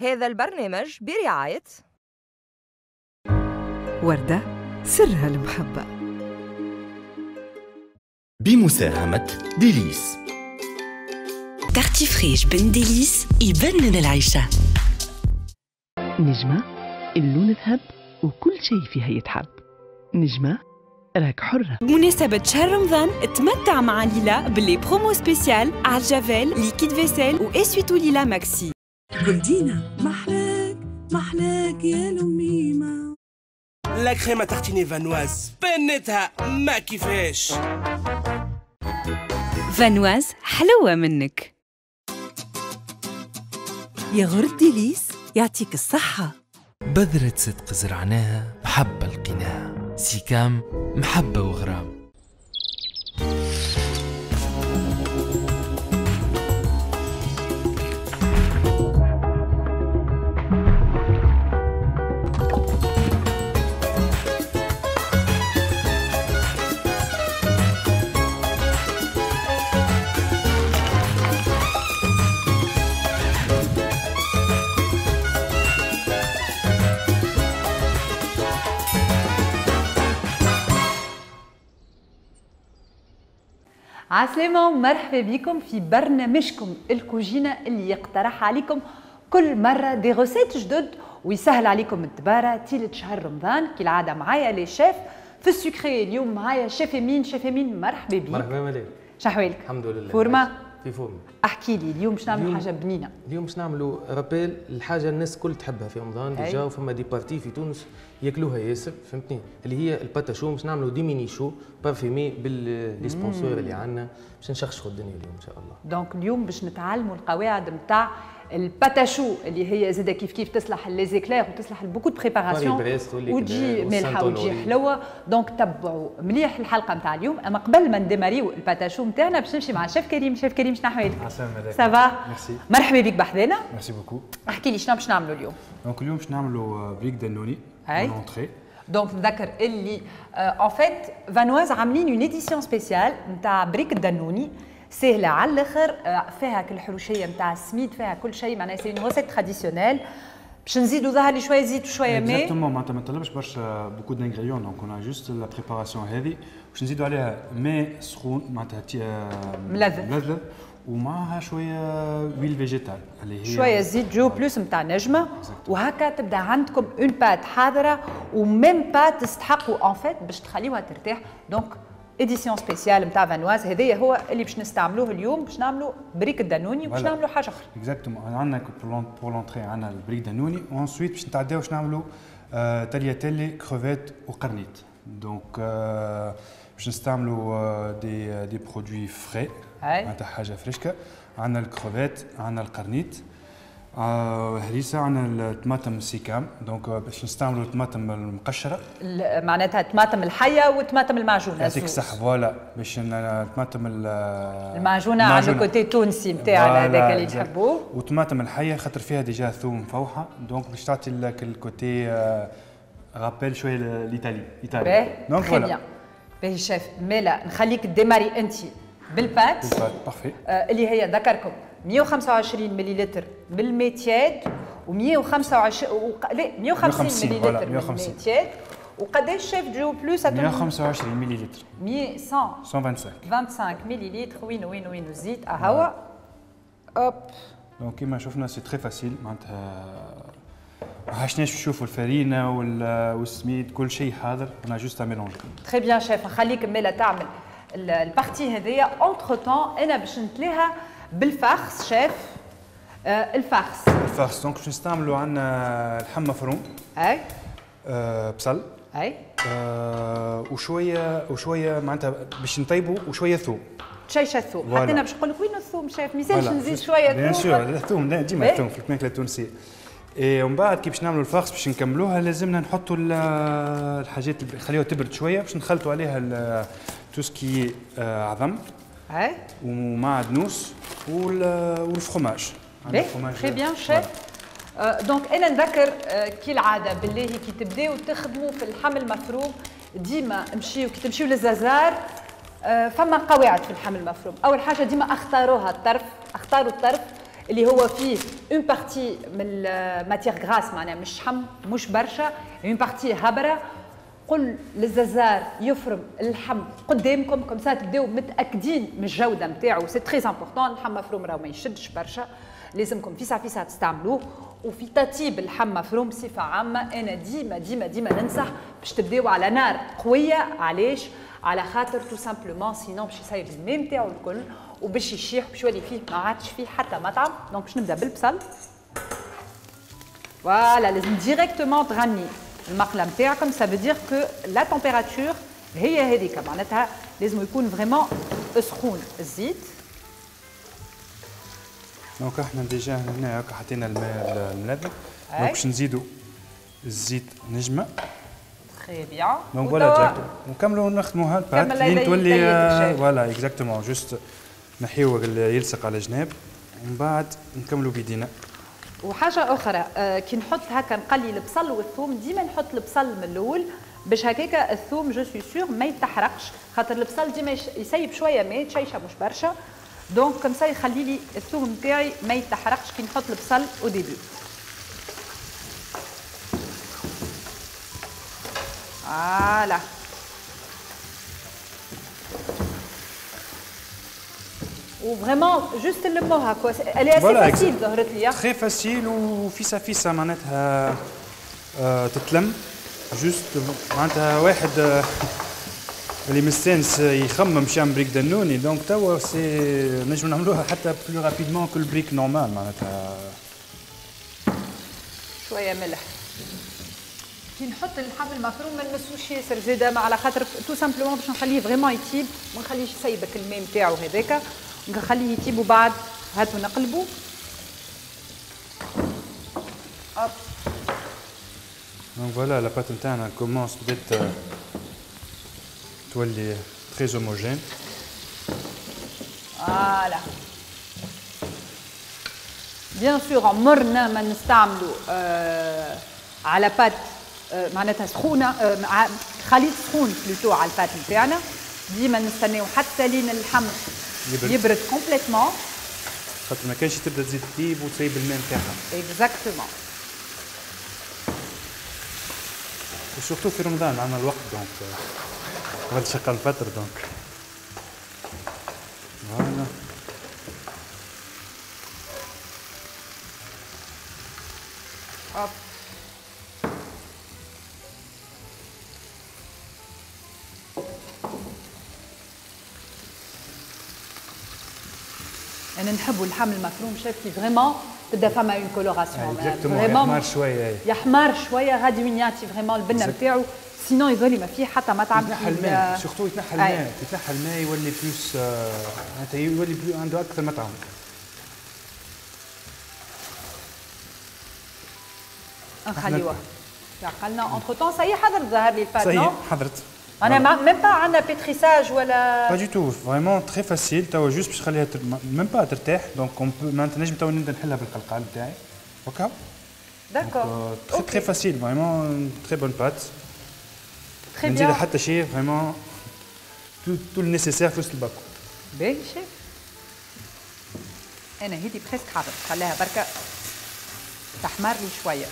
هذا البرنامج برعاية وردة سرها المحبة، بمساهمة ديليس. Tartifriche بن ديليس يبنن العيشة. نجمة اللون ذهب وكل شيء فيها يتحب. نجمة راك حرة. بمناسبة شهر رمضان تمتع مع ليلى ب les promos spéciales على جافيل liquide vaisselle و essuie-tout ليلى ماكسي. جولدينا محلاك محلاك يا لميمة. la crème à tartiner فانواز بنتها ما كيفاش. فانواز حلوة منك. ياغورت ديليس يعطيك الصحة. بذرة صدق زرعناها محبة لقيناها، سيكام محبة وغرام. عسلامة ومرحبا بكم في برنامجكم الكوجينة اللي يقترح عليكم كل مرة des recettes جدد ويسهل عليكم الدبارة تيلة شهر رمضان. كالعادة معايا les chefs في ال sucré. اليوم معايا شيف امين. شيف امين مرحبا بك. مرحبا مالك، شحوالك؟ الحمد لله forme في forme. احكي لي اليوم باش نعملوا حاجة بنينة. اليوم باش نعملوا rappel الحاجة الناس الكل تحبها في رمضان déjà، وفما des parties في تونس ياكلوها ياسر، فهمتني، اللي هي ال pâte à choux. باش نعملوا des mini choux parfumés بال les sponsors اللي عندنا باش نشخشخوا الدنيا اليوم ان شاء الله. donc اليوم باش نتعلموا القواعد نتاع ال pâte à choux اللي هي زاده كيف كيف تصلح les éclairs وتصلح beaucoup de préparations وتجي مالحة وتجي حلوة. donc تبعوا مليح الحلقة نتاع اليوم. اما قبل ما نديماريو ال pâte à choux نتاعنا باش نمشي مع شيف كريم. شيف كريم شنو احوالك؟ ça va؟ مرحبا بك بحذانا. merci beaucoup. احكي لي شنو باش نعملوا اليوم؟ donc اليوم باش نعملوا بريك دانوني entrée. donc نذكر اللي en fait فانواز عاملين une édition spéciale نتاع بريك الدانوني، سهلة على الاخر، فيها كل الحروشيه نتاع السميد، فيها كل شيء، معناها c'est une recette traditionnelle. باش نزيدوا ظهر لي شوية زيت وشوية ماء. exactement، معناتها ما طلبش برشا beaucoup d'ingrédients. donc on juste la préparation هذه باش نزيدوا عليها ماء سخون معناتها ملذذ ومعها شوية huile végétale اللي هي شوية زيت جو بلوس نتاع نجمه، وهكا تبدا عندكم une pâte حاضره و même pas تستحقوا en fait باش تخليوها ترتاح. donc édition spéciale نتاع فانواز هذايا هو اللي باش نستعملوه اليوم باش نعملوا بريك الدانوني وباش نعملوا حاجة اخرى. exactement، عندنا pour l'entrée عندنا البريك دانوني و ensuite باش نتعداو باش نعملوا tagliatelles crevettes وقرنيت. donc باش نستعملوا des produits frais معناتها حاجة فريشكه. عندنا الكروفيت، عندنا القرنيت، هريسه، عندنا الطماطم سيكام. donc باش نستعملوا الطماطم المقشره، معناتها الطماطم الحية والطماطم المعجونه. يعطيك الصحة. voilà باش الطماطم المعجونه على ال côté التونسي نتاعنا هذاك اللي تحبوه، والطماطم الحية خاطر فيها déjà ثوم مفوحه، donc باش تعطي لك ال côté rappel شوية l'Italie. ايطالي. donc voilà. باهي شيف مالا نخليك démarrer انت بال pâte. بال pâte parfait. اللي هي ذكركم 125 مليلتر من الماء tiède و 125 لا 150 مليلتر من الماء tiède. وقداش شيف جو بلوس؟ 125 مليلتر. 125 25 مليلتر. وين وين وين الزيت؟ اهو hop. donc كيما شفنا c'est très facile، معناتها ما عشناش نشوفوا الفرينة والسميد، كل شيء حاضر، on a juste à mélanger. très bien chef، نخليك مالا تعمل ال partie هذيا. entre-temps انا باش نتلاها بال farce chef. ال farce ال farce donc باش نستعملوا عندنا اللحم مفروم، اي بصل، اي وشوية معناتها باش نطيبوا، وشوية ثوم، شيشة ثوم. حتى انا باش نقول لك وين الثوم شيف، ما يسالش نزيد شوية ثوم. bien sûr الثوم ديما الثوم في الماكلة التونسية. اي ومن بعد كي باش نعملوا ال farce باش نكملوها لازمنا نحطوا الحاجات اللي نخليوها تبرد شوية باش نخلطوا عليها tout ce qui عظم اي ومعدنوس وال fromage. très bien chef. donc انا نذكر كالعادة بالله كي تبداو تخدموا في اللحم المفروم ديما امشيو كي تمشيو للزازار فما قواعد في اللحم المفروم. اول حاجة ديما اختاروها الطرف، اختاروا الطرف اللي هو فيه une partie من ال matière grasse، معناها مش شحم مش برشا، une partie هبره. قل للززار يفرم اللحم قدامكم comme ça تبداو متاكدين من الجودة نتاعو، c'est très important. اللحم مفروم راهو ما يشدش برشا، لازمكم فيسع فيسع تستعملوه. وفي تطيب اللحم مفروم بصفة عامة انا ديما ديما ديما ننصح باش تبداو على نار قوية. علاش؟ على خاطر tout simplement sinon باش يسيب الماء نتاعو الكل وباش يشيح باش يولي فيه ما عادش فيه حتى مطعم. donc باش نبدا بالبصل. voilà لازم directement تغني المقله نتاعكم، ça veut dire que la température هي هذيك، معناتها لازم يكون vraiment سخون الزيت. donc احنا déjà هنا هكا حطينا الماء الملبن، donc باش نزيدو الزيت نجمه. très bien. donc voilà directement نكملوا نخدموها ال pâte لين تولي voilà exactement، juste نحيو اللي يلصق على جناب ومن بعد نكملوا بيدينا. وحاجه اخرى كي نحط هكا نقلي البصل والثوم، ديما نحط البصل من الاول باش هكاكا الثوم je suis sûre ما يتحرقش، خاطر البصل ديما يسيب شوية ماء، تشيشه مش برشا، donc comme ça يخلي لي الثوم نتاعي ما يتحرقش كي نحط البصل au début. voilà و vraiment juste نلموها quoi، elle est assez facile ظهرت لي très facile وفيسا فيسا معناتها تتلم juste معناتها واحد اللي مستانس يخمم باش يعمل بريك دنوني، donc توا c'est نجم نعملوها حتى plus rapidement que البريك normal معناتها. شوية ملح كي نحط اللحم المفروم ما نمسوش ياسر زاده، على خاطر tout simplement باش نخليه vraiment يطيب، ما نخليش يسيبك الماء نتاعو هذاك، نخليه يطيب وبعد هاتو نقلبو. hop donc voilà la pâte نتاعنا commence بدات تولي très homogène. voilà bien sûr عمرنا ما نستعملو على pâte معناتها سخونة، خليط سخون plutôt على ال pâte نتاعنا، ديما نستناو حتى لين اللحم يبرد complètement، خاطر ما كانش تبدا تزيد تطيب وتسيب الماء نتاعها. exactement. و surtout في رمضان عندنا الوقت، donc قبل شقة الفطر، donc voilà. hop انا نحبوا اللحم المفروم شافتي vraiment تبدا فما une coloration vraiment يحمر شوية، يحمر شوية غادي وين يعطي vraiment البنه نتاعو، sinon يظل ما فيه حتى مطعم. يتنحى الماء surtout، يتنحى الماء، يتنحى الماء يولي plus معناتها يولي عنده اكثر مطعم. نخليوه عقلنا entre-temps. ça y est حضرت ظهر لي ال pâte؟ ça y est حضرت. انا même pas عندنا pétrissage ولا pas du tout، vraiment très facile. توا juste باش نخليها même pas ترتاح، donc on peut معناتها نجم توا نبدا نحلها بالقلقال نتاعي هكا. d'accord très très facile، vraiment très bonne pâte. très bien. نزيد حتى شيء، vraiment tout le nécessaire في وسط الباكو. باهي شيف، انا هيدي presque حاضر، خليها بركة تحمر لي شوية.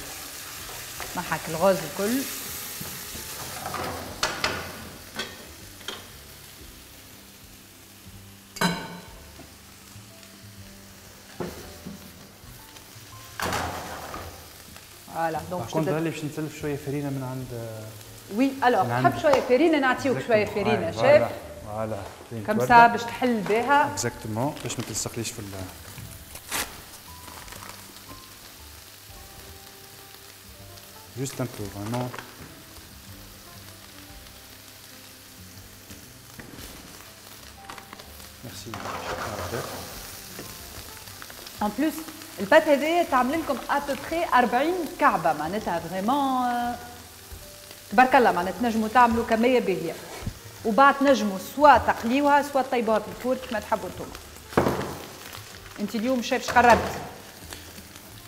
نحك الغاز الكل. voilà donc كنت اللي باش نسلف شوية فرينه من عند oui alors تحب شوية فرينه نعطيوك شوية فرينه chef. voilà comme ça باش تحل بها exactement باش ما تلصقليش في juste un peu vraiment. Merci. En plus ال pâte هذايا تعمل لكم à peu près 40 كعبه، معناتها vraiment تبارك الله، معناتها تنجموا تعملوا كمية باهيه وبعد تنجموا soit تقليوها soit تطيبوها في ال four كما تحبوا انتم. انت اليوم شايف اش قربت؟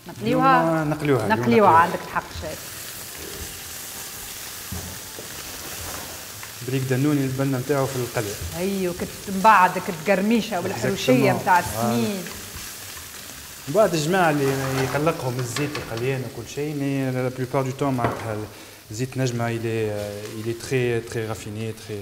نقليوها؟ نقليوها نقليوها، عندك الحق شايف. بريك دنوني البنه نتاعو في القليه. ايوه كنت من بعد القرميشه والحروشيه نتاع السميد. من بعد الجماعة اللي يقلقهم الزيت القليان وكل شيء، mais la plupart du temps معناتها زيت نجمه il est très très raffiné très.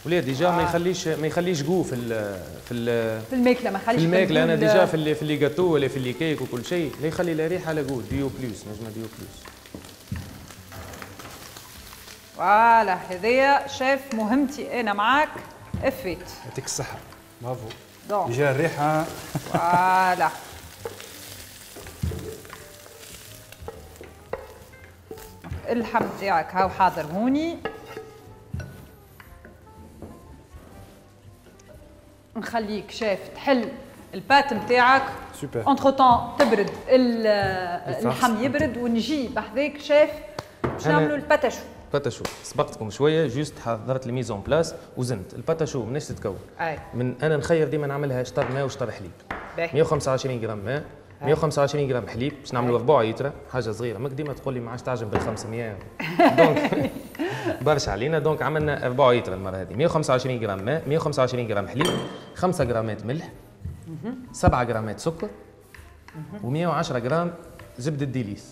ولا déjà ما يخليش goût في ال في ال في الماكلة، ما يخليش في الماكلة. انا déjà في les gâteaux ولا في les cakes وكل شيء لا يخلي لا ريحه لا goût. Duo Plus، نجمه Duo Plus. voilà هذايا شيف مهمتي انا معاك افيت. يعطيك الصحة، bravo. déjà الريحة voilà. اللحم تاعك هاو حاضر هوني. نخليك شيف تحل ال pâte نتاعك. super. entre-temps تبرد اللحم يبرد ونجي بحذاك شيف باش نعملوا ال pâte à choux. pâte à choux سبقتكم شوية، juste حضرت ال mise en place وزنت. ال pâte à choux مناش تتكون؟ من انا نخير ديما نعملها شطر ماء وشطر حليب. 125 غرام ماء، 125 غرام حليب باش نعملوا ربع لتر، حاجة صغيرة. ماك ديما تقول لي ما عادش تعجب بال 500 donc برشا علينا. donc عملنا ربع لتر المرة هذه. 125 غرام ماء، 125 غرام حليب، 5 غرامات ملح، 7 غرامات سكر، و110 غرام زبدة ديليس.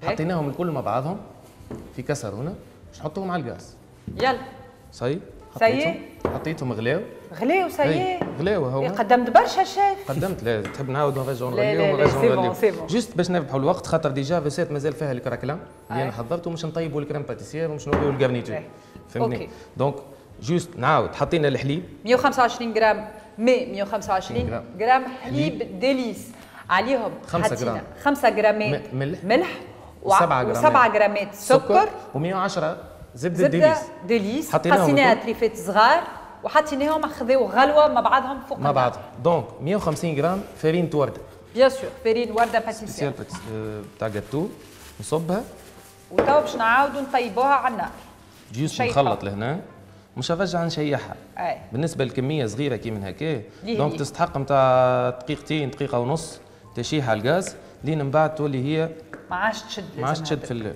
حطيناهم الكل مع بعضهم في كسرونه باش نحطوهم على الغاز. يلا ça y est ça y est، حطيتهم غلاو غلاو ça y est غلاو هما. قدمت برشا شيف. قدمت، لا تحب نعاود نرجعوا نغليو ونرجعوا نغليو juste باش نربحوا الوقت، خاطر déjà recette مازال فيها ال craquelin اللي انا حضرته، مش نطيبوا ال crème pâtissière ومش نوريو ال garniture، فهمتني؟ donc juste نعاود حطينا الحليب 125 غرام ماء، 125 غرام حليب ديليس، عليهم 5 غرام 5 غرامات ملح و7 غرامات سكر و110 زبدة ديليس. ديليس قصيناها تريفات صغار وحطيناهم خذاو غلوه مع بعضهم فوق مع بعضهم. donc 150 غرام فرينة ورده، bien sûr فرينة ورده pâtissière تاع جاتو، نصبها وتوا باش نعاودوا نطيبوها على النار. juste نخلط لهنا، مش نرجع نشيحها. بالنسبة لكميه صغيرة كي من هكا donc تستحق نتاع دقيقتين دقيقة ونص تشيح على الغاز لين من بعد تولي هي ما عادش تشد. ما عادش تشد في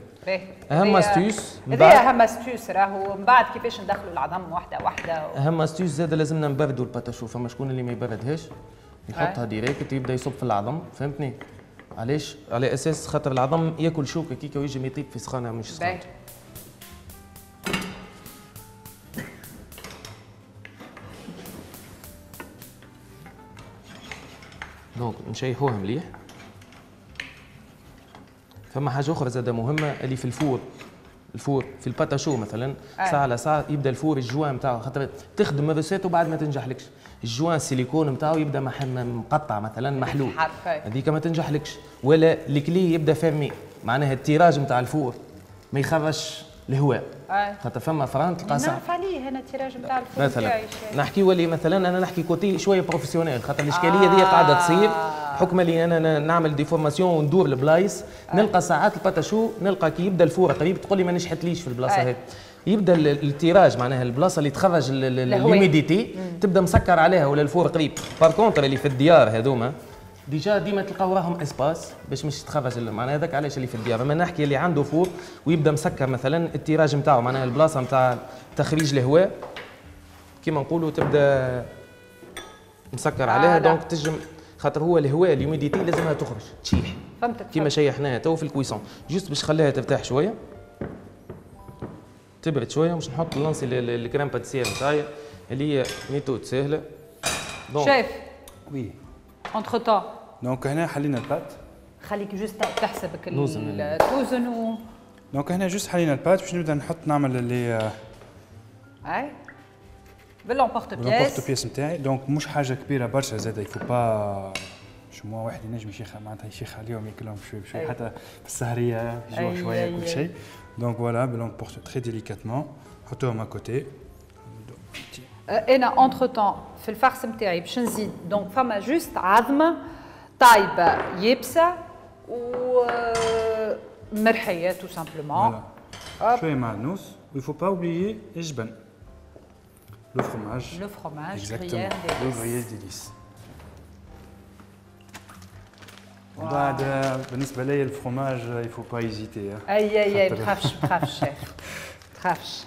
اهم astuce هذه، اهم astuce راهو من بعد كيفاش ندخلوا العظم واحدة واحدة اهم astuce زاد لازمنا نبردوا ال pâte à choux. فما شكون اللي ما يبردهاش يحطها direct يبدا يصب في العظم، فهمتني؟ علاش؟ على اساس خاطر العظم ياكل شوكه كيكا ويجي يطيب في سخانه مش سخانه. donc نشيحوها مليح. فما حاجة اخرى زاده مهمة اللي في ال four، ال four في ال pâte à choux مثلا ساعة على ساعة يبدا ال four ال joint نتاعو، خاطر تخدم recette وبعد ما تنجحلكش، ال joint السيليكون نتاعو يبدا مقطع مثلا محلول، هذيك ما تنجحلكش. ولا ال clé يبدا fermée، معناها ال tirage نتاع ال four ما يخرجش الهواء، خاطر فما فران تلقى ساعة نعرف عليه انا ال tirage نتاع ال four مثلا. نحكي ولي مثلا انا نحكي côté شوية professionnel، خاطر الاشكالية دي قاعدة تصير بحكم اللي انا نعمل des formations وندور البلايص، نلقى ساعات ال pâte à choux نلقى كي يبدا ال four قريب تقول لي ما نجحتليش في البلاصة هذه، يبدا ال tirage معناها البلاصة اللي تخرج l'humidité تبدا مسكر عليها ولا ال four قريب. par contre اللي في الديار هذوما déjà ديما تلقاو وراهم espace باش مش تخرج، معناها هذاك علاش اللي في الديار. اما نحكي اللي عنده four ويبدا مسكر مثلا ال tirage نتاعو، معناها البلاصة نتاع تخريج الهواء كيما نقولوا تبدا مسكر عليها. donc تجم خاطر هو الهواء l'humidité لازمها تخرج تشيح، فهمتك؟ كيما شيحناها تو في ال cuisson، juste باش نخليها ترتاح شوية تبرد شوية، باش نحط lancer ال crème pâtissière نتاعي اللي هي méthode ساهله. chef oui entre-temps donc هنا حلينا ال pâte، خليك juste تحسبك توزن و donc هنا juste حلينا ال pâte باش نبدا نحط نعمل اللي اي بال l'emporte-pièce l'emporte-pièce نتاعي. donc مش حاجة كبيرة برشا زاد، il faut pas شو واحد ينجم يشيخ معناتها يشيخ عليهم ياكلهم شوي بشوي حتى في السهريه يجوع شوية كل شيء. donc voilà ب l'emporte très délicatement نحطوهم à côté. انا entre-temps في ال farce نتاعي باش نزيد donc فما juste عظمه طايبه يابسة و مرحيه tout simplement، شوية معدنوس، و il faut pas oublier الجبن، le fromage. Le fromage, exactement. Le gruyère délice. بعد بالنسبة لي ال fromage il faut pas hésiter. اي اي اي ما تخافش ما تخافش شيف، ما تخافش.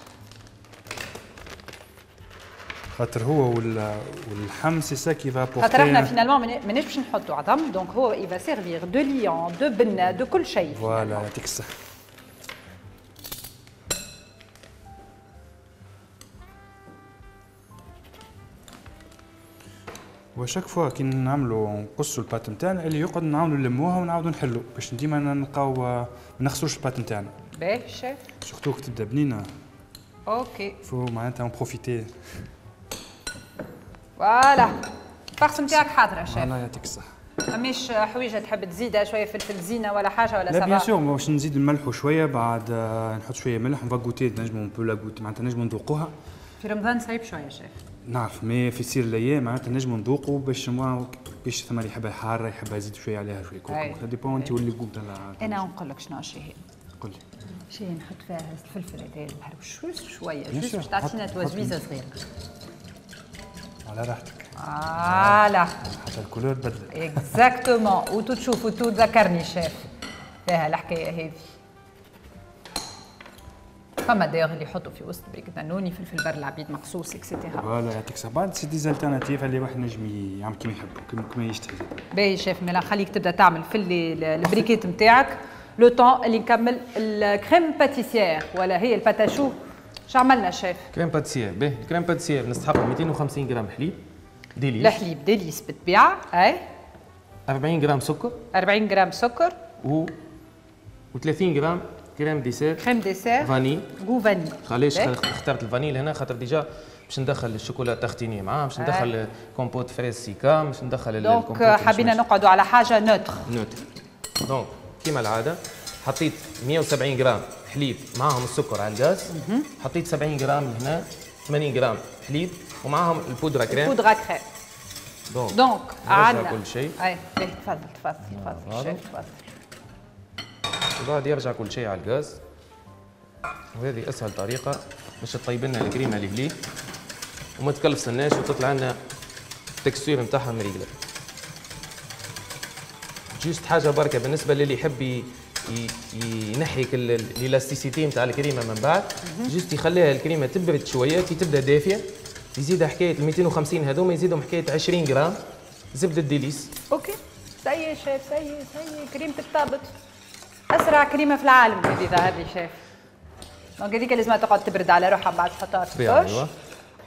خاطر هو واللحم c'est ça qui va apporter. خاطر احنا finalement ماناش باش نحطوا عظم، donc هو il va servir de liant، de بنه، de كل شيء. voilà يعطيك الصحة. و chaque fois كي نعملوا نقصوا ال pâte نتاعنا اللي يقعد نعاودوا نلموها ونعاودوا نحلوا باش ديما نلقاو ما نخسروش ال pâte نتاعنا. باهي chef. surtout كي تبدا بنينه. OK. faut معناتها en profiter. voilà ال farce نتاعك حاضره شيف. voilà يعطيك الصحة. فماش حويجه تحب تزيدها شوية فلفل زينة ولا حاجة ولا لا؟ bien sûr باش نزيد نملحوا شوية بعد، نحط شوية ملح، on va goûter، نجمو on peut la goûter معناتها نجمو نذوقوها. في رمضان صعيب شوية شيف. نعرف، mais في سير الايام معناتها نجمو نذوقوا باش ثم اللي يحبها حارة يحبها يزيد شوية عليها شوية كركم، ça dépend انت واللي goût تاع. انا نقول لك شنو شي قول لي. شي نحط فيها الفلفل هذا المهروش شوية juste باش تعطينا توزويزه صغيرة. على راحتك. voilà حتى ال couleur تبدلت. exactement، وتو تشوف وتو تذكرني شيف فيها الحكاية هذه. فما d'ailleurs اللي يحطوا في وسط بريك دانوني فلفل بر العبيد مقصوص et cetera. voilà يعطيك الصحة، c'est des alternatives اللي واحد نجم يعمل كيما يحب كيما يشتهي. باهي شيف، مالا خليك تبدا تعمل في البريكيت نتاعك le temps اللي نكمل ال crème pâtissière ولا هي ال pâte à choux. شو عملنا chef؟ crème pâtissière. باهي ال crème pâtissière نستحقوا 250 غرام حليب ديليس. الحليب ديليس بالطبيعة، اي 40 غرام سكر، 40 غرام سكر و 30 غرام crème dessert، crème dessert vanille، goût vanille. علاش اخترت ال vanille هنا؟ خاطر déjà باش ندخل ال chocolat à tartiner معاه، باش ندخل compote fraise سيكام، باش ندخل donc حبينا نقعدوا على حاجة neutre. neutre. donc كيما العادة حطيت 170 غرام حليب معاهم السكر على الغاز، حطيت 70 غرام هنا، 80 غرام حليب ومعاهم ال poudre crème. ال poudre crème. donc عندنا كل شيء. اي تفضل تفضل تفضل شيف تفضل. وبعد يرجع كل شيء على الغاز، وهذه اسهل طريقه باش تطيب لنا الكريمة اللي بلي وما تكلفسناش وتطلع لنا ال texture نتاعها مريقله. juste حاجة بركة بالنسبة للي يحب ينحي ال élasticité نتاع الكريمة من بعد، juste يخليها الكريمة تبرد شوية، كي تبدا دافيه يزيدها حكاية ال 250 هذوما يزيدهم حكاية 20 غرام زبدة ديليس. OK ça y est chef، ça y est ça y est كريمتك طابت، اسرع كريمة في العالم هذه ظهر لي chef. donc هذيك لازم تقعد تبرد على روحها بعد تحطها في ال poche.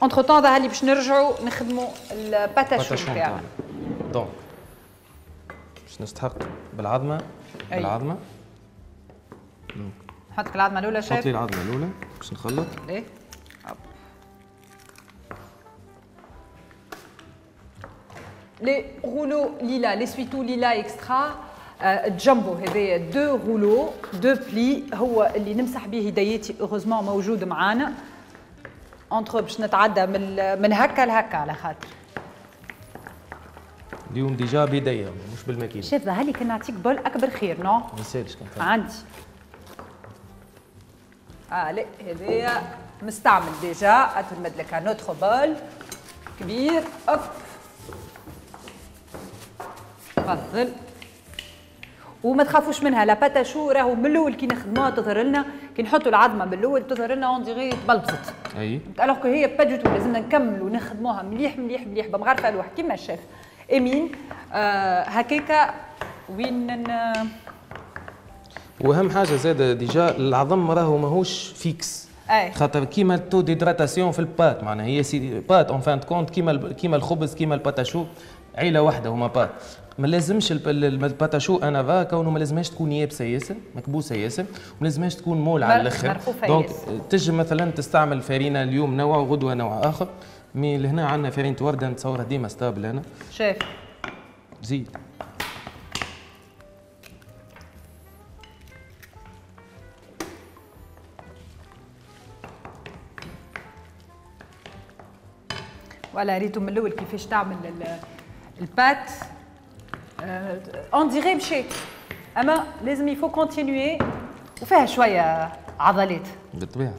entre-temps ظهر لي باش نرجعوا نخدموا ال pâte à choux تاعنا. donc باش نستحق بالعظمة. بالعظمة نحط لك العظمة الاولى شيف. حط لي العظمة الاولى باش نخلط. ليه؟ les rouleaux ليلا، l'essuie-tout ليلا extra jumbo، هذايا deux rouleaux deux plis هو اللي نمسح به يدياتي، heureusement موجود معانا entre باش نتعدى من هكا لهكا على خاطر اليوم déjà بيديا مش بالماكينه. شاف ظهر لي كان نعطيك bol اكبر خير non؟ ما يسالش كان عندي. لا هذايا مستعمل déjà، اتمد لك un autre bol كبير. hop تفضل. وما تخافوش منها la pâte à choux، راهو من الاول كي نخدموها تظهر لنا، كي نحطوا العظمة من الاول تظهر لنا on dirait تبلبزت. اي alors que هي pas du tout، لازمنا نكملوا نخدموها مليح مليح مليح بمغرفه الواح كيما الشيف امين. هكاكا وين واهم حاجة زاد déjà العظم راهو ماهوش fixe. أي. خاطر كيما ال taux d'hydratation في ال pâte، معناها هي c'est pâte en fin de compte كيما الخبز كيما ال pâte à choux، عيله واحدة هما pâte. ما لازمش ال pâte à choux انا فا كونه ما لازمهاش تكون يابسة ياسر مكبوسه ياسر، وما لازمهاش تكون molle على الاخر. donc تنجم مثلا تستعمل فرينه اليوم نوع وغدوه نوع اخر، mais لهنا عندنا فرينه ورده نتصورها ديما stable. انا شايف زيد voilà ريتو من الاول كيفاش تعمل ال pâte on dirait مشيت، اما لازم il faut continuer وفيها شوية عضلات بالطبيعة.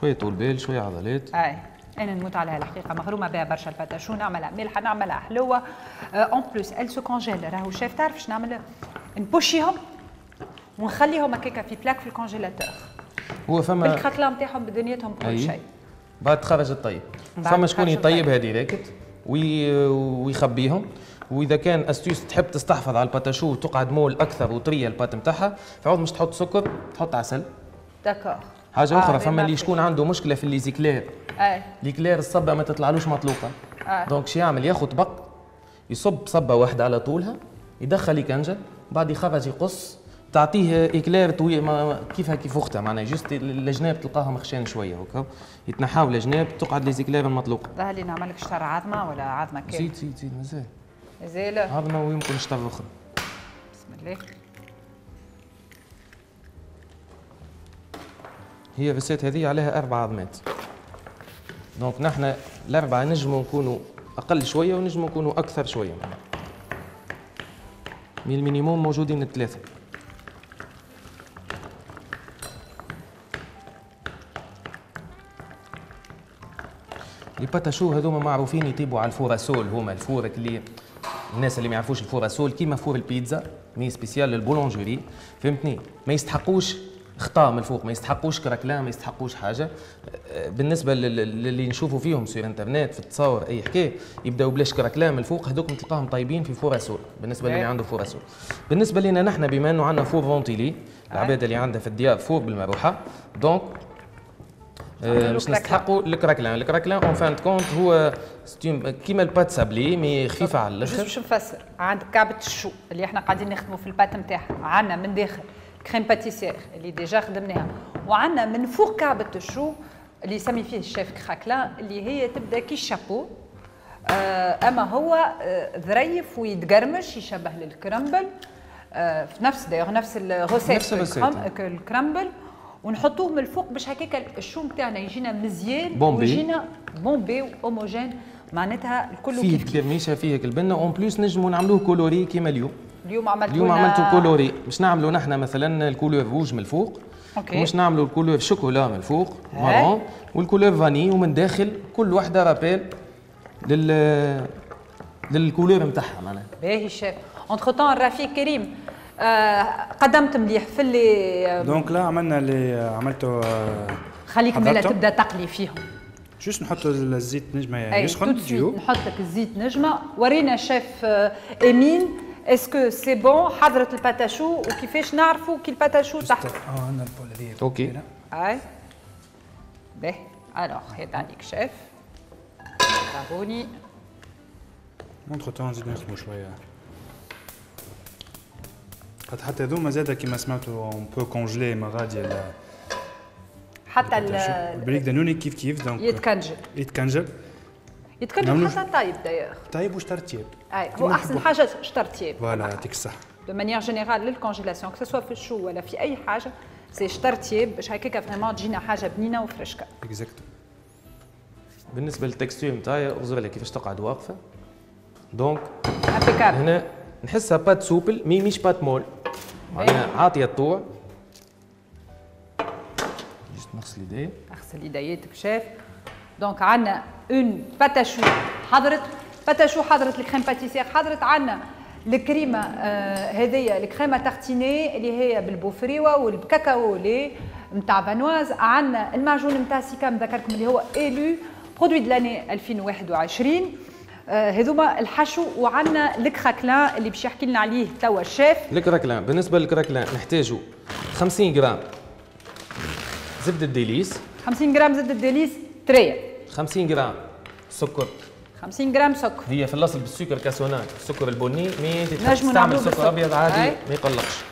شوية طول بال شوية عضلات. اي انا نموت عليها الحقيقة، مغرومه بها برشا ال pâte à choux، نعملها مالحة نعملها حلوة، en plus elle se congèle. راهو شاف تعرف شنو نعمل؟ نبوشيهم ونخليهم هكاكا في plaque في ال congélateur. هو فما بال craquelin نتاعهم بدنيتهم بكل شيء. بعد تخرج الطيب فما شكون يطيبها direct ويخبيهم. واذا كان astuce تحب تستحفظ على ال pâte à choux وتقعد molle اكثر وطريه ال pâte نتاعها، فعوض مش تحط سكر تحط عسل. d'accord. حاجة اخرى فما اللي شكون عنده مشكلة في les éclairs. l'éclair الصبه ما تطلعلوش مطلوقه. donc شو يعمل؟ ياخذ طبق يصب صبه واحدة على طولها، يدخل يكنجل، بعد يخرج يقص، تعطيه اكلير طويل كيفها كيف اختها معناها، juste الجناب تلقاها مخشان شوية هكا، يتنحاو الجناب تقعد les éclairs المطلوقه. ظهر لي نعمل لك شطر عظمه ولا عظمه كاملة؟ زيد زيد زيد مازال. مازال عظمه ويمكن شطر اخرى. بسم الله. هي ال recette هذه عليها 4 عظمات. donc نحن الاربعة نجموا نكونوا اقل شوية ونجموا نكونوا اكثر شوية. من ال minimum موجودين الثلاثة. les pâtes à choux هذوما معروفين يطيبوا على ال four à sole، هما ال four اللي الناس اللي ما يعرفوش ال four à sole كيما four البيتزا mais spécial لل boulangerie، فهمتني؟ ما يستحقوش خطا من الفوق، ما يستحقوش craquelin، ما يستحقوش حاجة. بالنسبة للي نشوفوا فيهم sur internet في التصاور اي حكاية يبداو بلاش craquelin من الفوق، هذوك تلقاهم طيبين في four à sole بالنسبة للي عنده four à sole. بالنسبة لنا نحن بما انه عندنا four ventilé، العباد اللي عندها في الديار four بالمروحه، donc باش نستحقوا ال craquelin. ال craquelin en fin de compte هو كيما ال pâte sablée mais خفيفة على الاخر. باش نفسر، عندك كعبه ال chou اللي احنا قاعدين نخدموا في ال pâte نتاعها، عندنا من داخل crème pâtissière اللي déjà خدمناها، وعندنا من فوق كعبه ال chou اللي يسمي فيه ال chef craquelin اللي هي تبدا كي الشابو، اما هو ظريف ويتقرمش يشبه لل crumble، في نفس دايوغ نفس ال recette ال crumble، ونحطوه من الفوق باش هكاك ال chou نتاعنا يجينا مزيان ويجينا bombé و homogène، معناتها الكل فيه الكرميشه فيه البنه. en plus نجموا نعملوه coloré كيما اليوم. اليوم عملتو اليوم عملتو coloré، باش نعملوا نحن مثلا ال couleur rouge من الفوق، ومش نعملوا ال couleur chocolat من الفوق marron، وال couleur vanille، ومن داخل كل وحده rappel لل couleur نتاعها معناها. باهي chef. entre-temps الرفيق كريم قدمت مليح في اللي donc لا عملنا اللي عملته. خليك ملا تبدا تقلي فيهم. juste نحطوا الزيت نجمه يسخن. نحط لك الزيت نجمه. ورينا شيف امين est-ce que c'est bon حضرت ال pâte à choux، وكيفاش نعرفوا كي ال pâte à choux تحت؟ عندنا ال bol هذه. OK. اي باهي alors هات عليك شيف. برافوني. entre-temps نزيد نخدموا شوية. حتى هذوما زاده كيما سمعتوا on peut congeler ما غادي حتى البريك دانوني كيف كيف donc يتكنجل يتكنجل يتكنجل حتى طيب d'ailleurs طيب وشطر تياب. اي هو احسن حاجة شطر تياب. voilà يعطيك الصحة. de manière générale لل congélation que ce soit في ال chou ولا في اي حاجة c'est شطر تياب باش هكاك vraiment تجينا حاجة بنينه وفرشكه. exactement. بالنسبة لل texture نتاعي اغزر لها كيفاش تقعد واقفة. donc هنا نحسها pâte souple mais مش pâte molle، معناها عاطيه الطوع. juste نغسل يدي. اغسل يدياتك chef. donc عندنا une pâte à choux حضرت، pâte à choux حضرت، ال crème pâtissière حضرت، عندنا الكريمة هذيا ال crème à tartiner اللي هي بالبوفريوه وال cacao au lait نتاع فانواز، عندنا المعجون نتاع سيكام ذكركم اللي هو élu produit de l'année 2021. هذوما الحشو، وعندنا ال craquelin اللي باش يحكي لنا عليه توا الشيف. ال craquelin بالنسبة لل craquelin نحتاجوا 50 غرام زبدة ديليس، 50 غرام زبدة ديليس تريه، 50 غرام سكر، 50 غرام سكر، هي في الاصل بالسكر cassonade السكر البني، mais تستعمل سكر ابيض عادي ما يقلقش.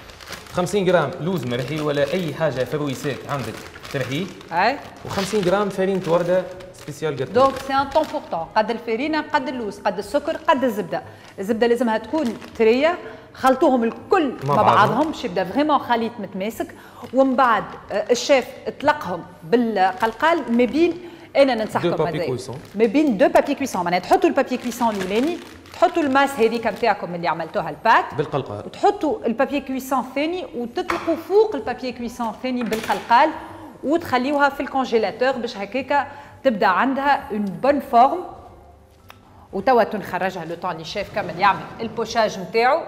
50 غرام لوز مرحي ولا اي حاجة fruits secs عندك ترحيه، اي، و50 غرام فرينه ورده spécial gâteau. donc c'est un tant pour tant، قد الفرينة قد اللوز قد السكر قد الزبدة. الزبدة لازمها تكون طرية، خلطوهم الكل مع بعضهم باش يبدا vraiment خليط متماسك. ومن بعد الشيف اطلقهم بالقلقال ما بين، انا ننصحكم ما بين deux papiers cuisson، معناها تحطوا ال papier cuisson الاولاني، تحطوا ال masse هذيك نتاعكم اللي عملتوها ال pâte بالقلقال، وتحطوا ال papier cuisson الثاني وتطلقوا فوق ال papier cuisson الثاني بالقلقال وتخليوها في ال congélateur باش هكاكا تبدا عندها une bonne forme. وتوا تنخرجها le temps اللي شيف كامل يعمل ال pochage نتاعو.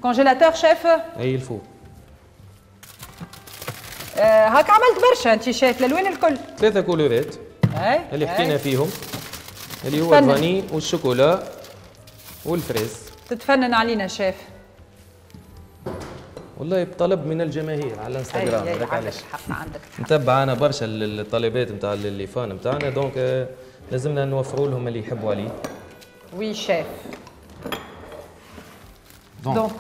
congélateur chef؟ اي ال four. هاك عملت برشا انت شيف الالوان الكل. ثلاثة couleur ات اللي حكينا فيهم، اللي هو ال vanille وال chocolat وال fraise. تتفنن علينا شيف. والله بطلب من الجماهير على الانستغرام، هذاك علاش عندك نتبع انا برشا الطلبات نتاع les fans نتاعنا، donc لازمنا نوفروا لهم اللي يحبوا عليه. oui chef. donc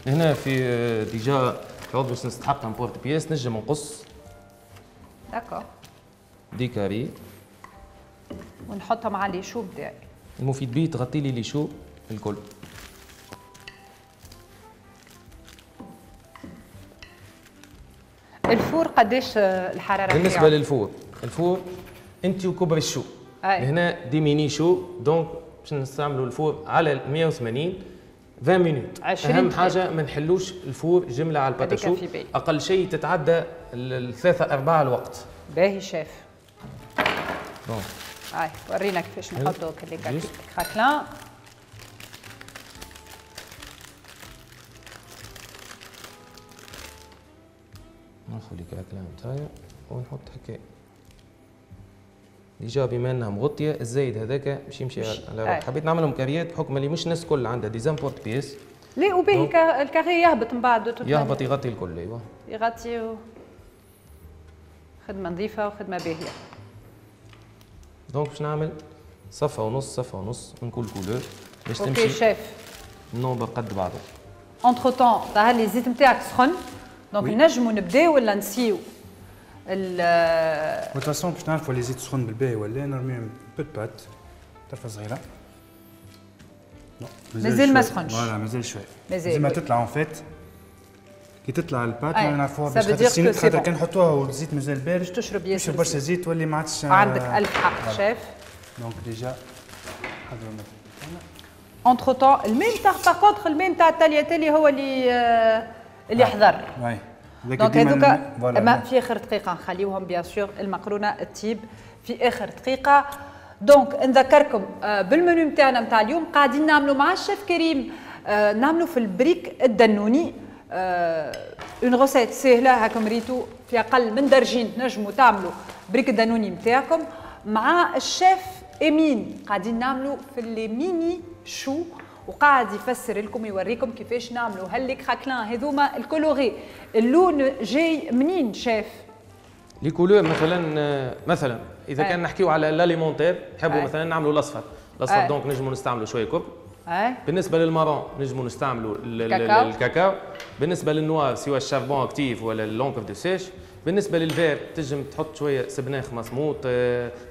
هنا في déjà عوض باش نستحق un porte-pièce نجم نقص. d'accord. des carrés ونحطهم على les choux بتاعي. المفيد بيه تغطي لي les choux الكل. ال four قداش الحرارة؟ بالنسبة لل four، ال four انت وكبر ال chou. هنا des mini choux، donc باش نستعملوا ال four على 180 20 minutes. اهم حاجة ما نحلوش ال four جملة على ال pâte à choux، اقل شيء تتعدى الثلاثة ارباع الوقت. باهي chef. bon هاي ورينا كيفاش نحطوا les craquelins. ناخذ les craquelins نتاعي ونحط هكا. déjà بما انها مغطيه الزايد هذاك باش يمشي على روحه. حبيت نعملهم carré ات بحكم اللي مش الناس الكل عندها des emporte-pièces. لا وباهي ال carré يهبط من بعد. يهبط يغطي الكل. ايوا يغطي. خدمة نظيفة وخدمه باهيه. donc باش نعمل صفة ونص صفة ونص من كل couleur باش تمشي. OK chef. ال nombre قد بعضه. entre-temps ظهر لي الزيت نتاعك سخن، donc نجموا نبداو ولا نسيو؟ de toute façon باش نعرفوا les زيت سخن بالباهي ولا نرميو peu de pâte طرفه صغيرة. مازال ما سخنش. voilà مازال شوية. مازال ما تطلع en fait كي تطلع ال pâte نعرفوها باش خاطر كان نحطوها والزيت مازال بارد باش تشرب ياسر، برشا زيت تولي ما عادش. عندك الف حق chef. donc déjà حضرنا entre-temps الماء نتاع par contre الماء نتاع ال tagliatelle هو اللي حضر. donc هذوك اما في اخر دقيقة نخليوهم bien sûr المقرونه تطيب في اخر دقيقة. donc نذكركم بالمنيو نتاعنا نتاع اليوم قاعدين نعملوا مع الشيف كريم، نعملوا في البريك الدنوني، une recette سهلة هاكم ريتو في اقل من درجين تنجموا تعملوا بريك الدنوني نتاعكم. مع الشيف امين قاعدين نعملوا في les mini choux، وقاعد يفسر لكم يوريكم كيفاش نعملوا هال les craquelins هذوما ال colorés. اللون جاي منين chef؟ les couleurs مثلا اذا كان نحكيو على l'alimentaire نحبوا مثلا نعملوا الاصفر، الاصفر donc نجموا نستعملوا شوية كوب. بالنسبة لل marron نجموا نستعملوا الكاكاو. بالنسبة لل noir سواء ال charbon actif ولا l'encre de seiche. بالنسبة لل vert تنجم تحط شوية سبناخ مسموط،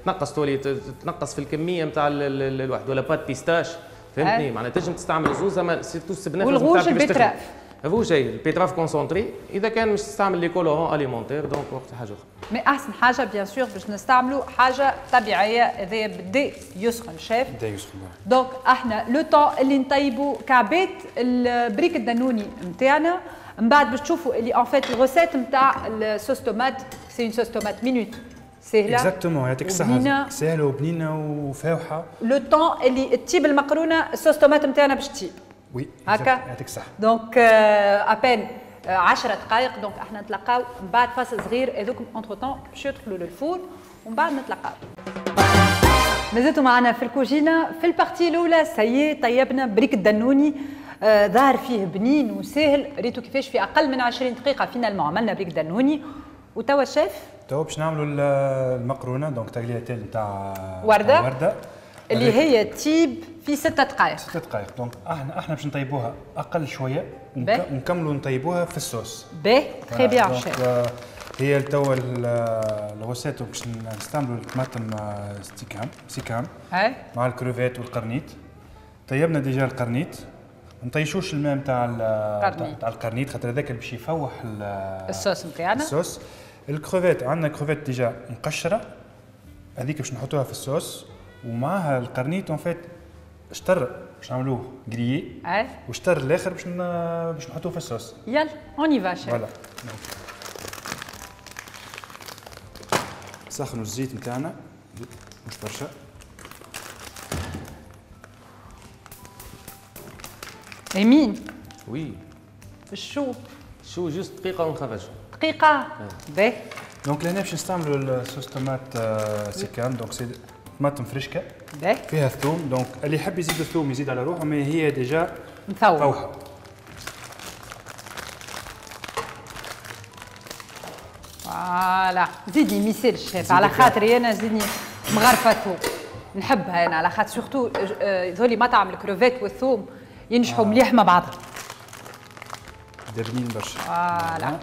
تنقص تولي تنقص في الكمية نتاع الواحد، ولا pâte pistache فهمتني. معناها تنجم تستعمل زوز، اما surtout السبناخ وال rouge ال betterave. ال rouge ال betterave concentrée. اذا كان مش تستعمل les colorants alimentaires donc وقت حاجة اخرى. mais احسن حاجة bien sûr باش نستعملوا حاجة طبيعية. هذايا بدا يسخن شيف، بدا يسخن. donc احنا le temps اللي نطيبوا كعبات البريك الدنوني نتاعنا، من بعد باش تشوفوا اللي en fait ال recette نتاع ال sauce tomate c'est une sauce tomate minute سهلة. exactement يعطيك الصحة، سهلة وبنينه وفاوحه. le temps اللي تطيب المقرونه ال sauce tomate نتاعنا باش تطيب. oui هكا يعطيك الصحة. donc à peine 10 دقائق. donc احنا نتلاقاو من بعد فاصل صغير، هذوك entre-temps باش يدخلوا لل four ومن بعد نتلاقاو. مازلتوا معنا في الكوجينه في ال partie الاولى. ça y est طيبنا بريك الدنوني، ظهر فيه بنين وسهل، ريتو كيفاش في اقل من 20 دقيقة finalement عملنا بريك دنوني. وتوا شيف توا باش نعملوا المقرونه donc tagliatelle نتاع ورده اللي هي تيب في 6 دقائق. 6 دقائق donc احنا باش نطيبوها اقل شوية ونكملوا نطيبوها في الصوص. باهي très bien chef. هي توا ال recette باش نستعملوا الطماطم سيكام مع الكروفيت والقرنيط. طيبنا déjà القرنيط، ما نطيشوش الماء نتاع القرنيط خاطر هذاك باش يفوح الصوص نتاعنا. ال sauce ال crevettes عندنا crevettes déjà مقشره، هذيك باش نحطوها في الصوص ومعها القرنيط. en fait شطر باش نعملوه grillé وشطر الاخر باش نحطوه في الصوص. يلا on y va chef. voilà نسخنوا الزيت نتاعنا مش برشا. امين oui ال chou؟ ال chou juste دقيقة ونخرجه. دقيقة؟ باهي. donc لهنا باش نستعملوا ال sauce tomate سيكام، donc c'est طماطم فريشكا باهي فيها الثوم، donc اللي يحب يزيد الثوم يزيد على روحه، mais هي déjà مفوحه. voilà، زيدني ميسيل الشيف على خاطري انا، زيدني مغرفه ثوم نحبها انا على خاطر surtout ذولي مطعم الكروفيت والثوم ينجحوا مليح مع بعضهم. دابنين برشا. voilà.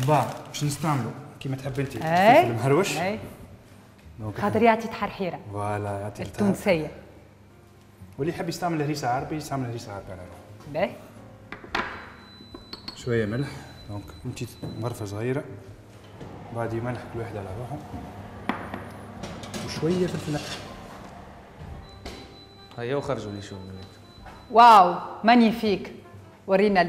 وبعد باش نستعملوا كيما تحب انت الفلفل المهروش. خاطر يعطي تحرحيره. voilà يعطي التونسية. واللي يحب يستعمل هريسه عربي يستعمل هريسه عربي على روحه. باهي. شوية ملح، donc انت مغرفه صغيرة، بعد ملح كل واحد على روحه، وشوية فلفل. هيا وخرجوا les choux منك. واو magnifique. ورينا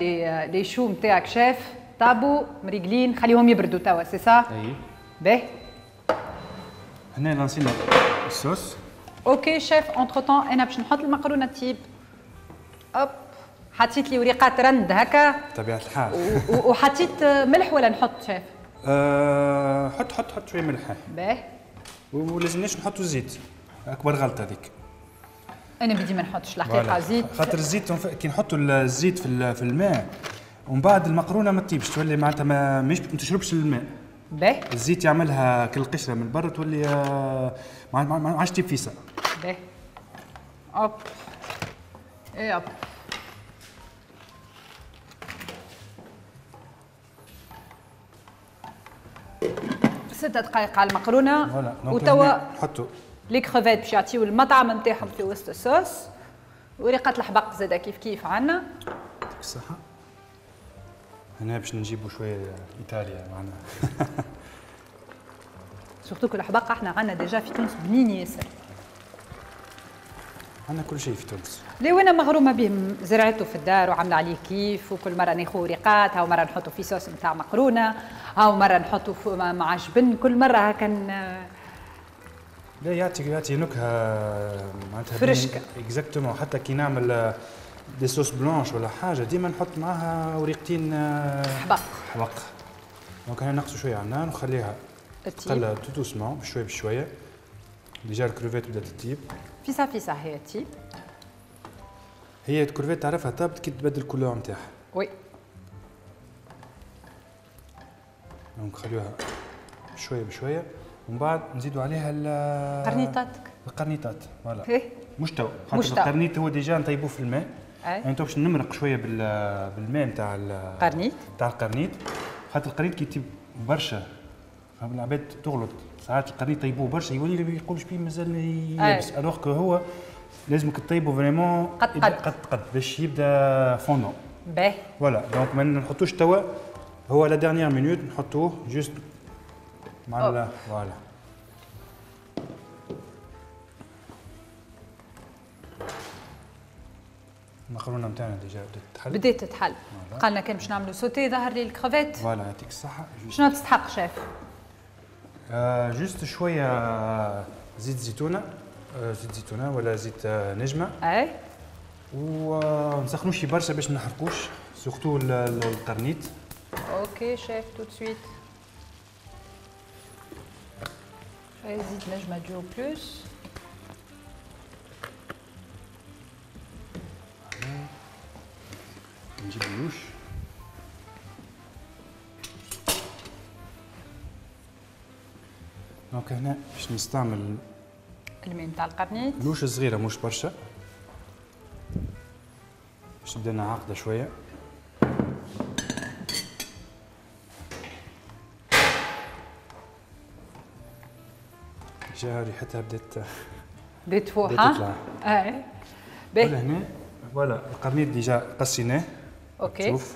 les choux نتاعك شيف، طابو مريقلين، خليهم يبردوا توا c'est ça؟ اي. باهي. هنا لانسينا ال sauce. OK chef، entre-temps انا باش نحط المقرونه تيب. hop، حطيت لي وريقات رند هكا بطبيعة الحال. وحطيت ملح ولا نحط شيف؟ حط حط حط شوية ملح. باهي. ولازمناش نحطوا الزيت، اكبر غلطه هذيك. انا بدي ما نحطش الحقيقة زيت، خاطر الزيت كي نحطوا الزيت في الماء ومن بعد المقرونه ما تطيبش، تولي معناتها ما تشربش الماء. باهي. الزيت يعملها كل قشرة من برا تولي ما عادش تطيب فيسا. باهي. hop اي hop. ستة دقائق على المقرونه. وتوا نحطوا les crevettes باش يعطيو المطعم نتاعهم في وسط الصوص. وريقات الحبق زاده كيف كيف عندنا. يعطيك الصحة. هنا باش نجيبوا شوية ايطاليا معنا. surtout que الحبق احنا عندنا déjà في تونس بنين ياسر. عندنا كل شيء في تونس. لي وانا مغرومه به، زرعته في الدار وعامله عليه كيف، وكل مرة ناخذ وريقات، هاو مرة نحطه في صوص نتاع مقرونة، هاو مرة نحطه مع جبن، كل مرة هكا. لا يعطي نكهة معناتها فرشكه. exactement، حتى كي نعمل des sauces blanches ولا حاجة ديما نحط معاها وريقتين حبق. حبق. donc هنا نقصوا شوية على النار ونخليها تقلى tout doucement بشوية بشوية. déjà ال crevettes بدات تطيب. فيسا فيسا هي تطيب. هي الكروفيت تعرفها طابت كي تبدل ال couleur نتاعها. oui. donc خليوها بشوية بشوية ومن بعد نزيدوا عليها القرنيطات. القرنيطات voilà. مش تو، خاطر القرنيط هو déjà نطيبوه في الماء. يعني تو باش نمرق شوية بالماء نتاع القرنيط. نتاع القرنيط، خاطر القرنيط كي يطيب برشا العباد تغلط، ساعات القرنيط يطيبوه برشا يولي يقولش بيه مازال يابس، alors que هو لازمك تطيبه vraiment قد قد قد قد باش يبدا fondant. باهي. voilà donc ما نحطوش توا، هو la dernière minute نحطوه juste مع voilà. المقرونه نتاعنا déjà بدات تتحل. بدات تتحل. قالنا كان باش نعملوا sauter ظهر لي ال crevettes. voilà يعطيك الصحة. شنو تستحق شيف؟ juste شوية زيت زيتونة، زيت زيتونة ولا زيت نجمة. اي. ونسخنوش برشا باش ما نحرقوش، surtout القرنيط. OK chef tout de suite. شوية زيت نجمة de plus. نجيب ال louche. donc هنا باش نستعمل الماء نتاع القرنيط. louche صغيرة مش برشا باش تبدا لنا عاقدة شوية. déjà ريحتها بدات تفوح. ها؟ اي. باهي. هنا voilà القرنيط déjà قصيناه. OK. شوف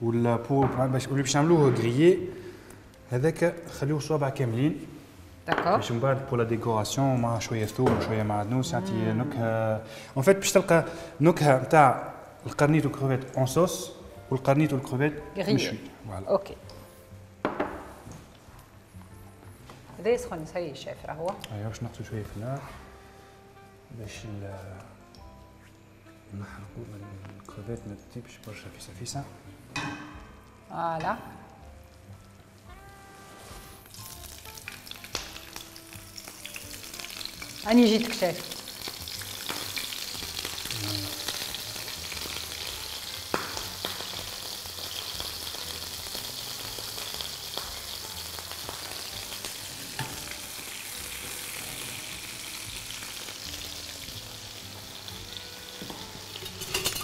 ولا pour باش اللي باش نعملوه grillé هذاك خليوه صوابع كاملين. d'accord. باش من بعد pour la décoration مع شوية ثوم وشوية معدنوس يعطي نكهة. en fait باش تلقى نكهة نتاع القرنيط وال crevettes en sauce والقرنيط والكروفيت مشوي. voilà. OK. هذا يسخن ça y est chef راهو. ايوا باش نقصوا شوية في النار باش نحرقوا ما الكروفيت ما تطيبش برشا فيسا فيسا. voilà اني جيتك chef.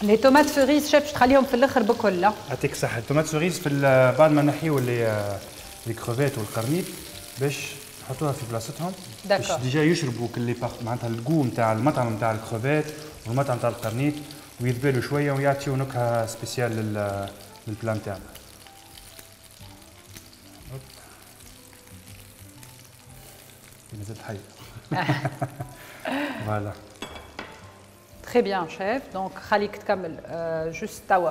les tomates cerises chef باش تخليهم في الاخر بكل. يعطيك الصحة. ال tomates cerises في بعد ما نحيو les crevettes والقرنيط باش نحطوها في بلاصتهم باش déjà يشربوا كل معناتها ال goût نتاع المطعم نتاع الكروفيت والمطعم نتاع القرنيط ويذبلوا شوية ويعطيو نكهة spéciale لل plat نتاعنا. مازالت حية. voilà très bien chef. donc خليك تكمل juste توا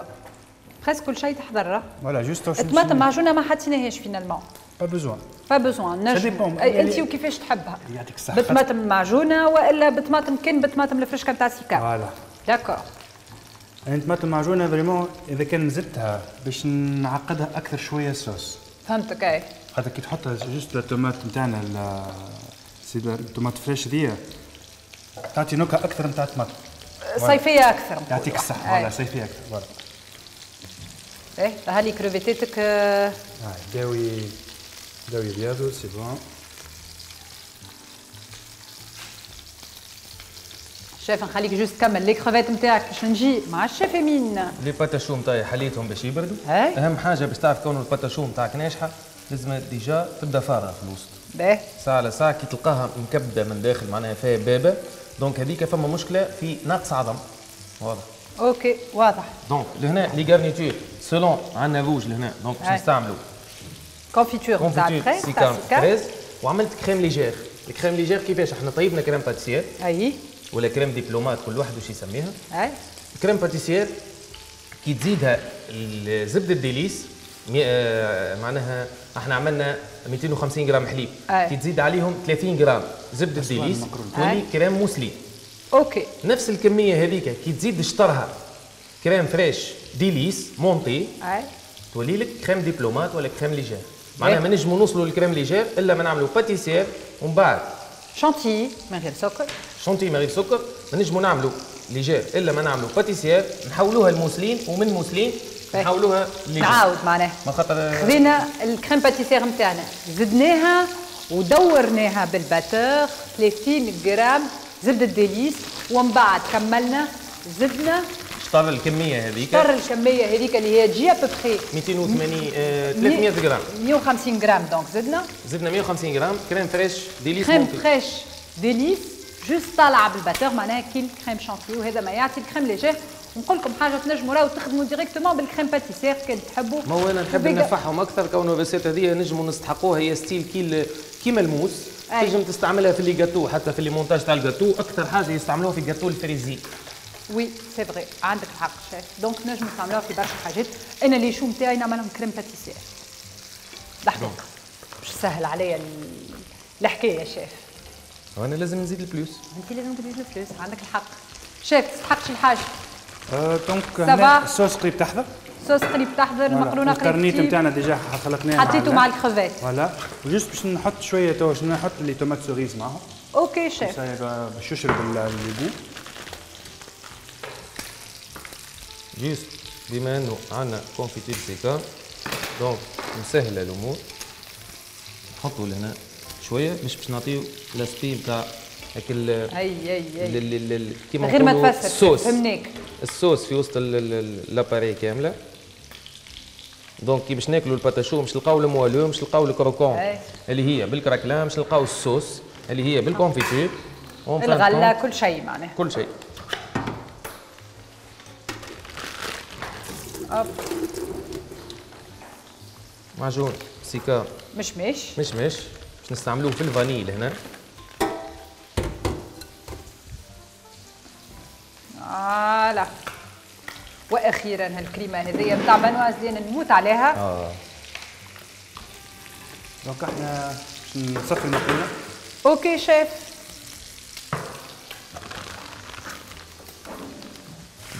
presque كل شيء تحضر. voilà juste الطماطم معجونه ما حطيناهاش finalement. pas besoin pas besoin نجم انت وكيفاش تحبها. يعطيك الصحة. بطماطم معجونه والا بطماطم كان بطماطم الفرشكه نتاع سيكا. voilà d'accord. يعني الطماطم معجونه vraiment اذا كان زدتها باش نعقدها اكثر شوية الصوص. فهمتك اي. خاطر كي تحطها juste la tomate نتاعنا c'est ال tomate fraîche ذي تعطي نكهة اكثر نتاع الطماطم. صيفية اكثر. يعطيك الصحة. voilà صيفية اكثر. voilà ايه هالي كروفيتاتك داوي داوي بياضو c'est bon. شيف نخليك juste تكمل les crevettes نتاعك باش نجي مع الشيف امين. les pâtes à choux نتاعي حليتهم باش يبردوا. اهم حاجة باش تعرف كون ال pâte à choux نتاعك ناجحة لازم déjà تبدا فارغة في الوسط. باهي. ساعة على ساعة كي تلقاها مكبده من داخل معناها فيها بابه donc هذيك فما مشكلة في نقص عظم. واضح. OK واضح. donc لهنا les garnitures selon عندنا روج لهنا donc باش نستعملوا confiture نتاع fraise سيكام fraise وعملت crème légère. ال crème légère كيفاش؟ احنا طيبنا crème pâtissière اي ولا crème diplomate كل واحد واش يسميها. اي crème pâtissière كي تزيدها زبدة ديليس معناها احنا عملنا 250 غرام حليب. كي تزيد عليهم 30 غرام زبدة ديليس تولي crème mousseline. OK نفس الكمية هذيك كي تزيد شطرها crème fraîche ديليس montée تولي لك crème diplomate ولا crème légère. معناها ما نجموا نوصلوا لل crème légère الا ما نعملوا pâtissière ومن بعد شانتي من غير سكر. شانتي من غير سكر ما نجموا نعملوا légère الا ما نعملوا pâtissière نحولوها لموسلين ومن موسلين نحولوها légère. نعاود معناها ما خاطر خذينا ال crème pâtissière نتاعنا زدناها ودورناها بال batteur 30 غرام زبدة ديليس ومن بعد كملنا زدنا شطر الكمية هذيك. شطر الكمية هذيك اللي هي تجي à peu près 280 300 غرام 150 غرام. donc زدنا 150 غرام crème fraîche ديليس. crème fraîche ديليس juste طالعه بال batteur معناها كي ال crème chantilly وهذا ما يعطي ال crème légère. ونقول لكم حاجة تنجموا راهو تخدموا directement بال crème pâtissière كان تحبوا. ما هو انا نحب ننفعهم اكثر كونه ال recette هذه نجموا نستحقوها هي style كي كيما الموس. تنجم تستعملها في les gâteaux حتى في les montages تاع الجاتو اكثر حاجة يستعملوها في gâteau ال fraisier. oui c'est vrai عندك الحق chef. donc نجم نستعملوها في برشا حاجات. انا les choux نتاعي نعملهم crème pâtissière الحقيقة باش تسهل عليا الحكاية شيف. وانا لازم نزيد ال plus. انت لازم تزيد ال plus عندك الحق شيف. تستحقش الحاجة. donc هنا الصوص قريب تحضر. الصوص قريب تحضر المقرونه قريب. القرنيط نتاعنا déjà خلطناه حطيته مع ال crevettes. voilà و juste باش نحط شوية تو باش نحط les tomates cerises معاهم. OK chef باش يشرب les goûts. juste بما انه عندنا confiture سيكا donc نسهل الامور نحطوا لهنا شوية باش نعطيو l'aspect نتاع هاك اي اي اي كيما غير ما تفسر فهمناك الصوص في وسط l'appareil كاملة. donc كي باش ناكلوا ال pâte à choux باش نلقاو ال moelleux باش نلقاو ال croquant اللي هي بال craquelin باش نلقاو الصوص اللي هي بال confiture الغلة كل شيء معناها كل شيء. hop معجون سيكا مشمش مشمش باش نستعملوه في ال vanille هنا. voilà واخيرا هالكريمه هذيا نتاع Vanoise اللي انا نموت عليها. donc احنا باش نصفي المقرونه. OK chef.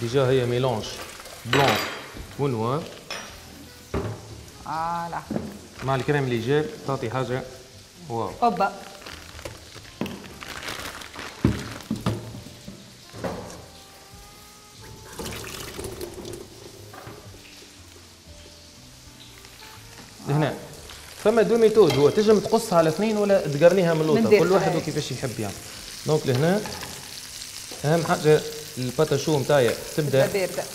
déjà هي mélange blanc و noir. voilà مع ال crème légère تعطي حاجة واو. اوبا هنا فما deux méthodes، هو تنجم تقصها على اثنين ولا تقرنيها من اللوطه، كل واحد وكيفاش يحب يعني. donc لهنا اهم حاجة ال pâte à choux نتاعي تبدا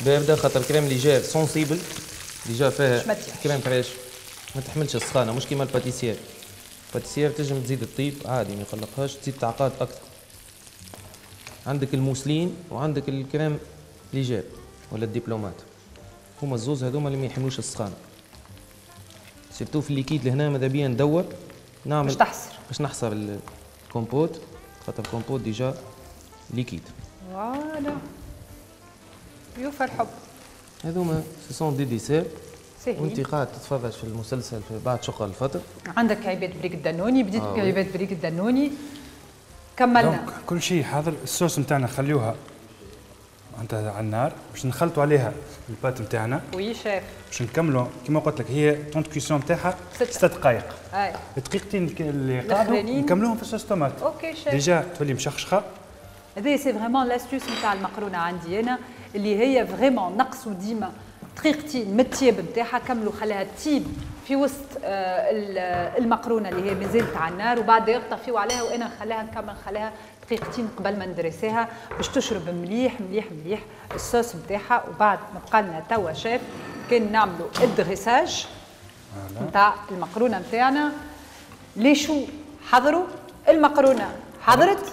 باردة، خاطر crème légère sensible déjà فيها crème fraîche ما تحملش السخانه، مش كيما ال pâtissière. ال pâtissière تنجم تزيد الطيب عادي ما يقلقهاش، تزيد تعقاد اكثر. عندك الموسلين وعندك ال crème légère ولا ال diplomate، هما الزوز هذوما اللي ما يحملوش السخانه. surtout في ال liquide لهنا ماذا بيا ندور نعمل باش تحصر، باش نحصر الكومبوت، خاطر ال compote déjà liquide. voilà يوفى الحب. هذوما ce sont des desserts وانت قاعد تتفرج في المسلسل في بعد شقه الفطر. عندك كعيبات بريك الدنوني، بديت بكعيبات بريك الدنوني كملنا. كل شيء حاضر. الصوص نتاعنا نخليوها معناتها على النار باش نخلطوا عليها ال pâte نتاعنا. oui chef. باش نكملوا كيما قلت لك هي temps de cuisson نتاعها 6 دقائق. اي الدقيقتين اللي قعدوا نكملوهم في ال sauce tomate. OK chef. déjà تولي مشخشخه. هذه c'est vraiment l'astuce نتاع المقرونه عندي انا، اللي هي vraiment نقصوا ديما دقيقتين من التياب نتاعها، كملوا خليها تيب في وسط المقرونه اللي هي مازالت على النار، وبعد يطفيو عليها وانا نخليها نكمل نخليها دقيقتين قبل ما ندرسيها باش تشرب مليح مليح مليح الصوص نتاعها. وبعد ما بقى لنا توا شيف كان نعملوا ال dressage نتاع المقرونه نتاعنا. les choux حضروا، المقرونه حضرت،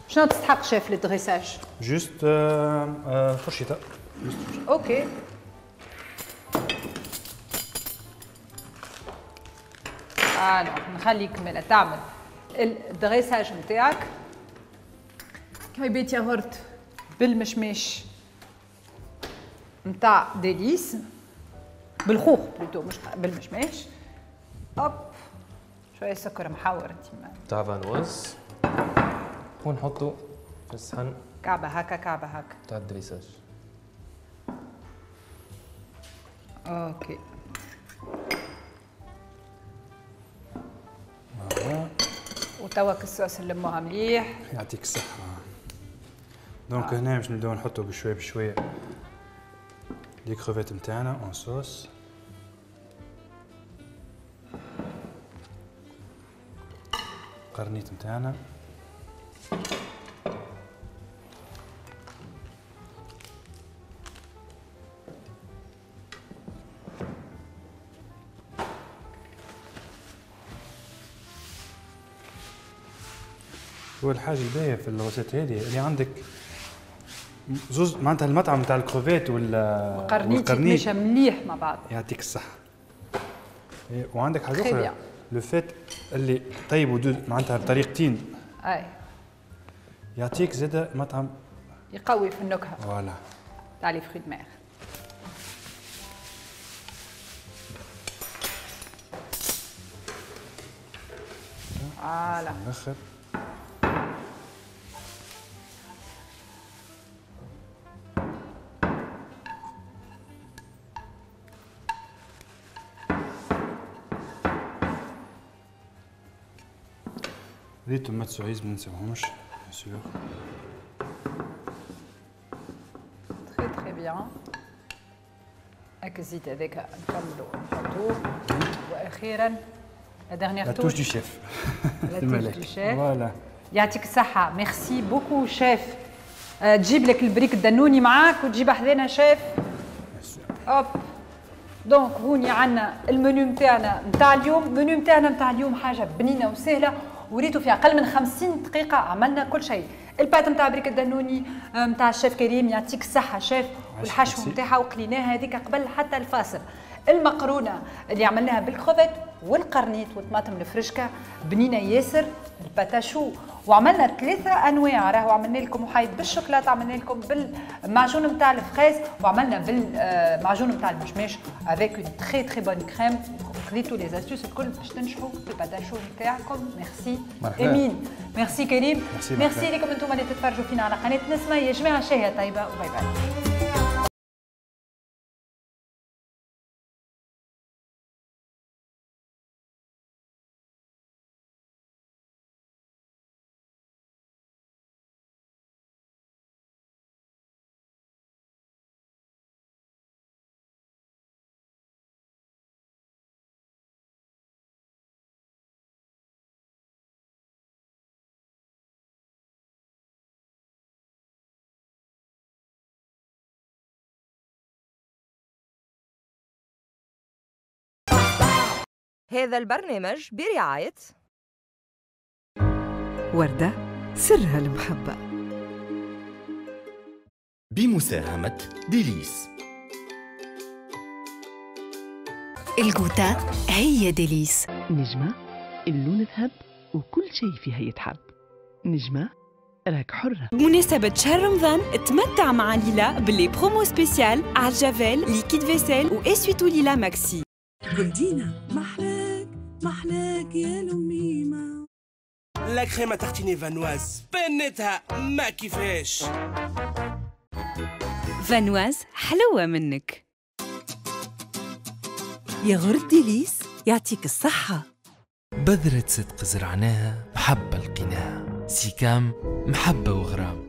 شنو تستحق chef لل dressage؟ juste فرشيطه. OK alors نخليك مالا تعمل ال dressage نتاعك. كعيبات ياغورت بالمشماش نتاع ديليس، بالخوخ plutôt مش بالمشماش. hop شوية سكر محور ديما تاع Vanoise، ونحطو في الصحن كعبه هكا كعبه هكا تاع ال dressage. OK وتوا الصوص نلموها مليح. يعطيك الصحة. donc هنا باش نبداو نحطو بشوية بشوية les crevettes نتاعنا en sauce. قرنيت نتاعنا. هو الحاجة الباهية في ال recette هذه اللي عندك زوز معناتها المطعم نتاع الكروفيت والقرنيط يتمشى مليح مع بعض. يعطيك الصحة. وعندك حاجة أخرى le fait اللي طيبوا معناتها بطريقتين. أي يعطيك زادة مطعم يقوي في النكهة. voilà تاع les fruits de mer. voilà الآخر les tomates cerises ما ننساوهمش bien sûr. très très bien. هاك الزيت هذاك نكملو نحطوه. واخيرا la dernière touche du chef. la touche du chef. voilà يعطيك الصحة. merci beaucoup chef. تجيب لك البريك الدنوني معاك وتجيب حذانا chef. hop donc هوني عندنا المنيو نتاعنا نتاع اليوم. المنيو نتاعنا نتاع اليوم حاجة بنينة وسهلة، وريتو في اقل من 50 دقيقة عملنا كل شيء. ال pâte نتاع بريك الدنوني نتاع الشيف كريم يعطيك الصحة شيف، والحشو نتاعها وقليناها هذيك قبل حتى الفاصل. المقرونه اللي عملناها بالكروفيت والقرنيط والطماطم الفرشكه بنينه ياسر. ال pâte à choux وعملنا 3 انواع، راهو عملنا لكم محايد بالشوكولاته، عملنا لكم بالمعجون نتاع ال fraise، وعملنا بالمعجون نتاع المشماش avec une très très bonne crème. خذيتوا les astuces الكل باش تنجحوا في ال pâte à choux نتاعكم. ميرسي امين، ميرسي كريم، ميرسي لكم انتم اللي تتفرجوا فينا على قناة نسمه. يا جماعة شهية طيبة و bye bye. هذا البرنامج برعاية وردة سرها المحبة. بمساهمة ديليس. الجوتا هي ديليس. نجمة اللون ذهب وكل شيء فيها يتحب. نجمة راك حرة. بمناسبة شهر رمضان تمتع مع ليلا ب les promos spéciales على javel liquide vaisselle و essuie-tout ليلا ماكسي. جولدينا محلاك محلاك يا لميمة. la crème à tartiner فانواز بنتها ما كيفاش. فانواز حلوة منك. ياغورت ديليس يعطيك الصحة. بذرة صدق زرعناها محبة لقيناها. سيكام محبة وغرام.